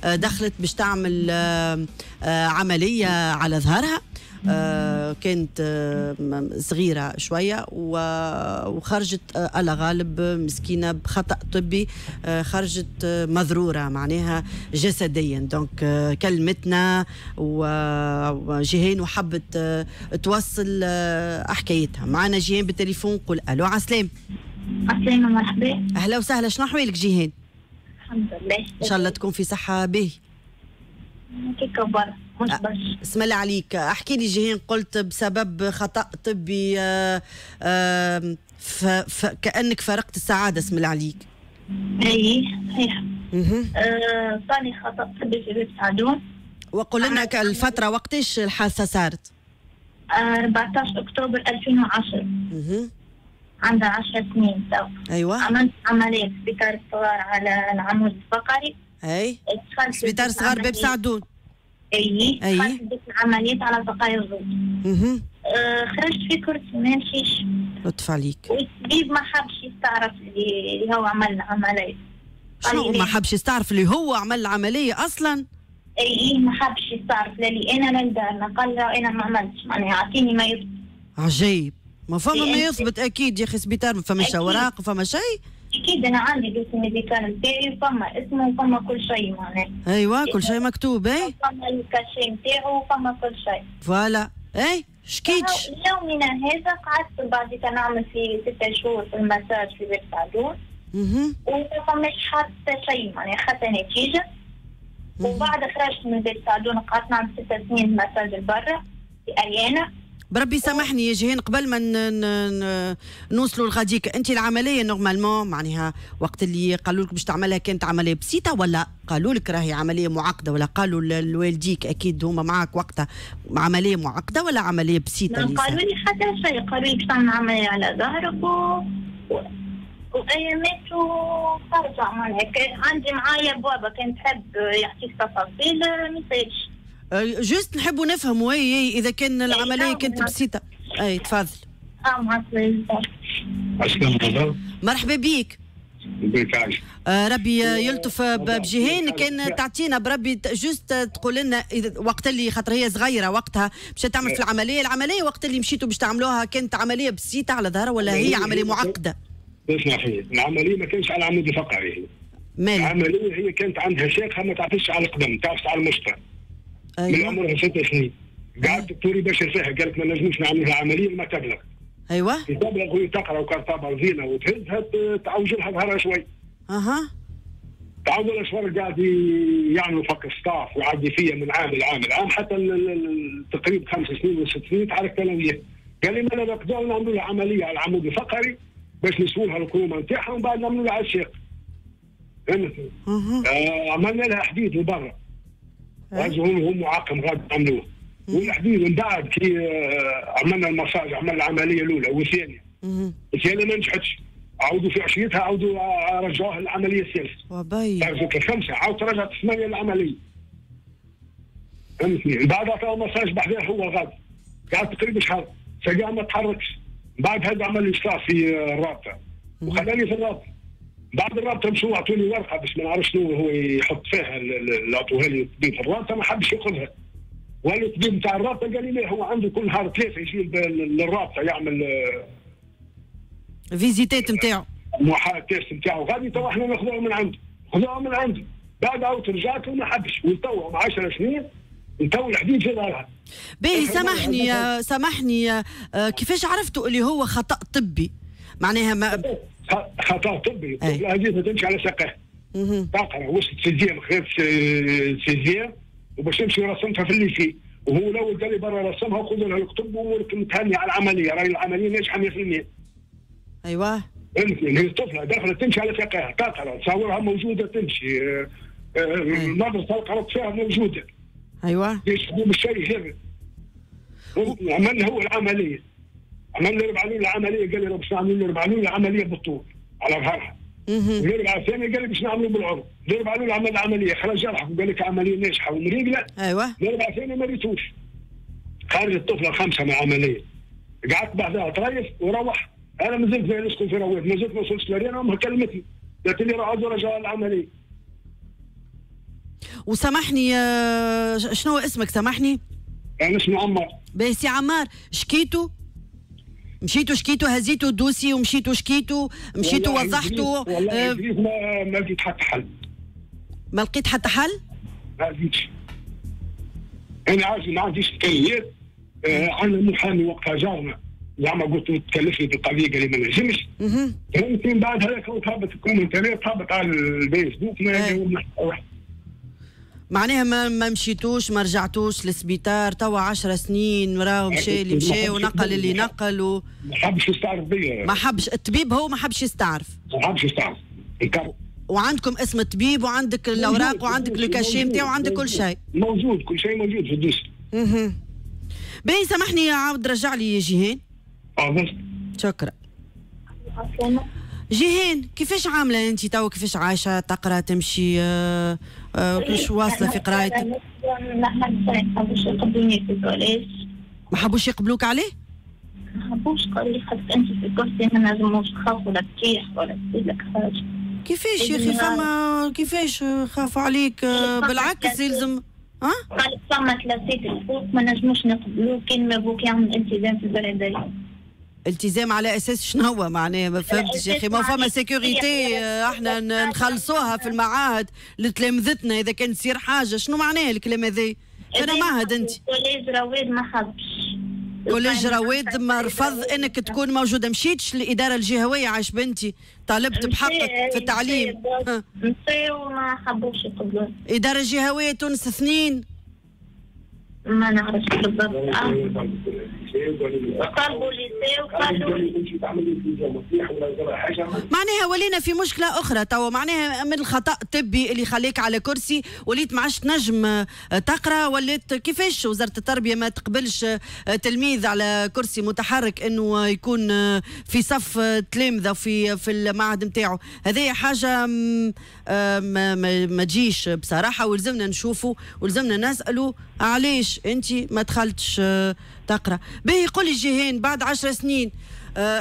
دخلت باش تعمل عملية على ظهرها. كانت صغيرة شوية وخرجت على غالب مسكينة بخطأ طبي، خرجت مضرورة معناها جسديا. donc كلمتنا وجيهان وحبت توصل حكايتها معنا. جيهان بالتليفون، قول الو. عسلام. عسلامة، مرحبا. اهلا وسهلا، شنو احوالك جيهان؟ الحمد لله. ان شاء الله تكون في صحة باهي. كيكا برا مش برشا. اسم الله عليك. احكي لي جيهان، قلت بسبب خطأ طبي كأنك فارقت السعادة، اسم الله عليك. اي صحيح. صار خطأ طبي في باب سعدون. وقول لنا الفترة وقتاش الحادثة صارت؟ 14 أكتوبر 2010. عندها 10 سنين تو. ايوه. عملت عملية في سبيطار الصغار على العمود الفقري. اي سبيطار صغار باب سعدون. اي دخلت بيت العمليات على بقايا الزوج. خرجت في كرسي ما نمشيش. لطف عليك. والطبيب ما حبش يستعرف اللي هو عمل العملية. شنو ما حبش يستعرف اللي هو عمل العملية أصلا؟ اي ما حبش يستعرف، لا لي أنا لا لدارنا، قال له أنا ما عملتش، معناها أعطيني ما يثبت. عجيب، ما فما ما يثبت أكيد يا أخي، سبيطار ما فماش أوراق ما فما شيء. اكيد انا عندي dossier médical نتاعي وفما اسمه وفما كل شيء معناها. ايوا كل شيء مكتوب. اي فما ال cachet نتاعو وفما كل شيء. voilà. اي شكيتش. يومنا هذا قعدت بعد نعمل في 6 شهور في المساج في بيت سعدون. وما فماش حتى شيء معناها حتى نتيجة. وبعد خرجت من بيت سعدون قعدت نعمل 6 سنين مساج لبرا في اريانا. بربي سامحني يا جيهان، قبل ما نوصلوا لغاديك، انت العملية normalement معناها وقت اللي قالوا لك باش تعملها كانت عملية بسيطة ولا قالوا لك راهي عملية معقدة، ولا قالوا لوالديك اكيد هما معك وقتها عملية معقدة ولا عملية بسيطة؟ ما قالوا لي حتى شيء، قالوا لي باش تعمل عملية على ظهرك وايامات وترجع معناها. عندي معايا بابا كان تحب يعطيك تفاصيل ما يصيرش. juste نحبوا نفهموا اي اذا كان العملية كانت بسيطة. اي تفضل. مرحبا بيك. ربي يلطف بجيهان. كان تعطينا بربي juste تقول لنا وقت اللي خاطر هي صغيرة وقتها مشات تعمل في العملية، العملية وقت اللي مشيتوا باش تعملوها كانت عملية بسيطة على ظهرها ولا هي عملية معقدة؟ اسمح لي، العملية ما كانش على العمود الفقري. العملية هي كانت عندها شيخه ما تعرفش على القدم، تعرفش على المشطه. أيوة. من عمرها 6 سنين قعدت الدكتور يبشر فيها، قالت ما نجموش نعملها عملية ما تبلغ. ايوه تبلغ وهي تقرا وكرطابه وزينه وتهزها تعوج لها ظهرها شوي. اها تعود لها شوي، قاعد يعملوا فك staff ويعدي فيا من عام لعام لعام حتى تقريبا 5 سنين ولا 6 سنين تعاركت انا وياه. قال لي ما نقدروا نعملوا لها عملية على العمود الفقري باش نسووا لها الكرومه نتاعها ومن بعد نعملوا لها على الساق. فهمت؟ عملنا لها حديد لبرا. هو معقم غادي عملوه والحديد. من بعد كي عملنا المساج، عملنا العملية الاولى والثانية. الثانية ما نجحتش، عاودوا في عشيتها عاودوا رجعوها للعملية الثالثة. رجعوا 5 عاود رجعت 8 للعملية. فهمتني؟ من بعد عطاو مساج بحذاه هو غادي قعد تقريبا شهر ساقع ما تحركش. من بعد هذا عمل لي staff في الرابطة وخلاني في الرابطة. بعد الرابطة مشوا عطوني ورقة باش ما نعرفش شنو هو يحط فيها، اللي عطوها لي الطبيب في الرابطة ما حبش ياخذها. وقال الطبيب نتاع الرابطة قال لي لا هو عنده كل نهار 3 يجي للرابطة يعمل visite نتاعو محاولة test نتاعو غادي، تو احنا ناخذوها من عنده، خذوها من عنده. بعد عاود رجعت وما حبش، وتو 10 سنين تو الحديد في ظهرها. باهي سامحني سامحني، كيفاش عرفتوا اللي هو خطأ طبي؟ معناها ما خطأ طبي، هذه ما تمشي على ساقها. تقرا وصلت sixième، خذت sixième وباش تمشي رسمتها في ال lycée، وهو الاول قال لي برا رسمها وخذ لها الكتب وامورك متهني على العملية، راهي العملية ناجحة 100%. ايوه فهمتني؟ هي طفله دخلت تمشي على ساقها، تقرا تصورها موجودة تمشي، المدرسة قرات فيها موجودة. ايوه يشبه الشيء هذا. عملنا هو العملية، عملنا ربع لول العملية، قال لي باش نعملوا ربع لول العملية بالطول على ظهرها. والربعه الثانية قال لي باش نعملوا بالعرض، الربعه الاولى عمل العملية خرج جرح وقال لك عملية ناجحة ومريقله. ايوه الربعه الثانية ما ريتوش. خرج الطفلة 5 من العملية. قعدت بعدها تريف وروح، انا مازلت نسكن في رواد، مازلت ما وصلتش لارينا، امها كلمتني قالت لي راه عاودوا رجعوا العملية. وسامحني، شنو اسمك سامحني؟ انا اسمي عمار. باهي سي عمار، شكيتو؟ مشيتوا شكيتوا، هزيتوا ال dossier ومشيتوا شكيتوا، مشيتوا وضحتوا؟ والله ما لقيت حتى حل. ما لقيت حتى حل؟ ما لقيتش. انا عايز ما عنديش امكانيات. عندنا محامي وقتها جارنا، زعما قلت له تكلفني بالقضية، قال لي ما نجمش. فهمتني؟ من بعد هذاك تهبط ال commentaires، تهبط على الفيسبوك، ما جاوبنا حتى واحد. معناها ما مشيتوش، ما رجعتوش للسبيطار توا 10 سنين، راهو مشى اللي مشى ونقل اللي نقل ما حبش يستعرف بيا. ما حبش الطبيب، هو ما حبش يستعرف. ما حبش يستعرف. وعندكم اسم الطبيب وعندك الاوراق وعندك le cachet نتاعو وعندك كل شيء. موجود، كل شيء موجود في ال dossier. باهي سامحني، عاود رجع لي جيهان. شكرا. جيهان، كيفاش عامله انت توا؟ كيفاش عايشه؟ تقرا، تمشي، كيفاش واصله في قرايتك؟ ما حبوش يقبلوني في ال collège. ما حبوش يقبلوك عليه؟ ما حبوش، قالوا لي خاطر انت في الكرسي ما نجموش، نخافوا لا تطيح ولا تصير لك حاجة. كيفاش يا اخي فما كيفاش خافوا عليك؟ بالعكس يلزم. ها؟ قالت فما كلاسات الفوق ما نجموش نقبلوك كان ما بوك يعمل التزام في البلدية. التزام على اساس شنو هو معناها؟ ما فهمتش يا اخي. ما فما sécurité احنا نخلصوها في المعاهد لتلامذتنا، اذا كان تصير حاجة شنو معناها الكلام هذا؟ انا معهد انت. collège رواد ما حبش. collège رواد ما رفض انك تكون موجودة. مشيتش للادارة الجهوية عايش بنتي، طالبت بحقك في التعليم. مشاو وما حبوش يقبلون. ادارة جهويه تونس 2 ما نعرفش بالضبط. طلبوا lycée وقالوا معناها ولينا في مشكلة اخرى توا، معناها من الخطا الطبي اللي خليك على كرسي وليت ما عادش تنجم تقرا، وليت كيفاش وزارة التربية ما تقبلش تلميذ على كرسي متحرك انه يكون في صف تلامذه في المعهد نتاعو؟ هذه حاجة ما تجيش بصراحة، ولزمنا نشوفوا ولزمنا نسالوا علاش انت ما دخلتش تقرا. باهي قولي جيهان، بعد 10 سنين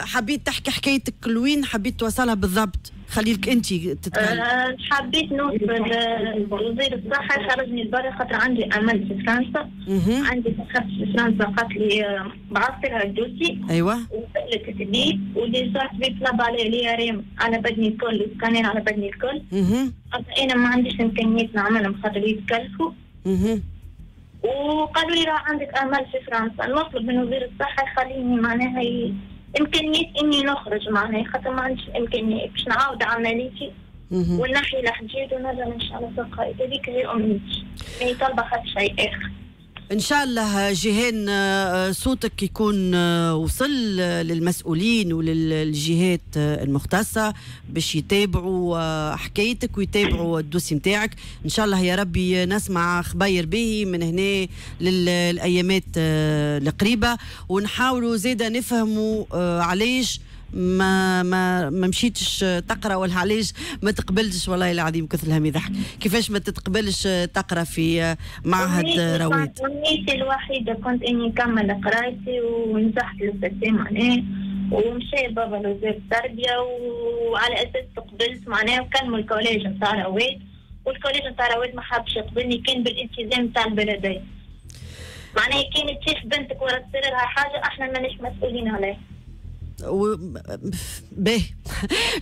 حبيت تحكي حكايتك لوين حبيت توصلها بالضبط؟ خليك انت تتكلم. حبيت نوصل وزير الصحة خرجني لبرا خاطر عندي امل في فرنسا. عندي صاحبتي في فرنسا قالت لي بعثت لها ال dossier. ايوه. وسالت الطبيب و déjà الطبيب طلب علي l'IRM على بدني الكل وسكانير على بدني الكل. انا ما عنديش امكانيات نعملهم خاطر يتكلفوا. وقالوا لي راه عندك امل في فرنسا. نطلب من وزير الصحة يخليني معناها امكانيات اني نخرج معناها خاطر ما عنديش الامكانيات باش نعاود عمليتي ونحي الحديد ونرجع ان شاء الله ساقاي. هذيك هي امنيتي، ماني طالبه حتى شيء اخر. ان شاء الله جيهان صوتك يكون وصل للمسؤولين وللجهات المختصة باش يتابعوا حكايتك ويتابعوا ال dossier نتاعك. ان شاء الله يا ربي نسمع خبير به من هنا للايامات القريبة، ونحاولوا زيدا نفهموا علاش ما ما ما مشيتش تقرا ولا علاش ما تقبلتش. والله العظيم كثر الهم يضحك، كيفاش ما تتقبلش تقرا في معهد رواد؟ امنيتي الوحيدة كنت اني نكمل قرايتي ونجحت للسيتي معناها، ومشى بابا لوزير التربية وعلى اساس تقبلت معناها، وكلموا ال collège نتاع رواد، وال collège نتاع رواد ما حبش يقبلني كان بالالتزام نتاع البلدية. معناها كانت تشوف بنتك ولا تصير لها حاجة احنا ماناش مسؤولين عليها. باهي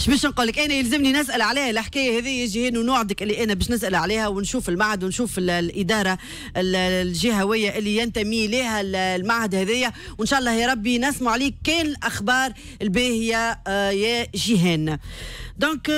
اش باش نقول لك، انا يلزمني نسال عليها الحكاية هذه جيهان، ونوعدك اللي انا باش نسال عليها ونشوف المعهد ونشوف الادارة الجهوية اللي ينتمي لها المعهد هذايا، وان شاء الله يا ربي نسمع عليك كان الاخبار الباهيه يا جيهان. donc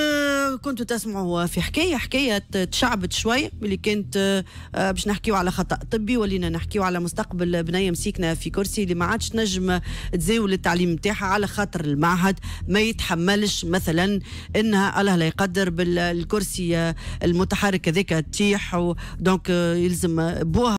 كنتوا تسمعوا في حكاية تشعبت شوية اللي كانت باش نحكيو على خطا طبي، ولينا نحكيو على مستقبل بنيه مسيكنه في كرسي اللي ما عادش نجم تزاول التعليم نتاعها على خاطر المعهد ما يتحملش مثلا انها الله لا يقدر بالكرسي المتحرك هذاك تطيح، donc يلزم بوها.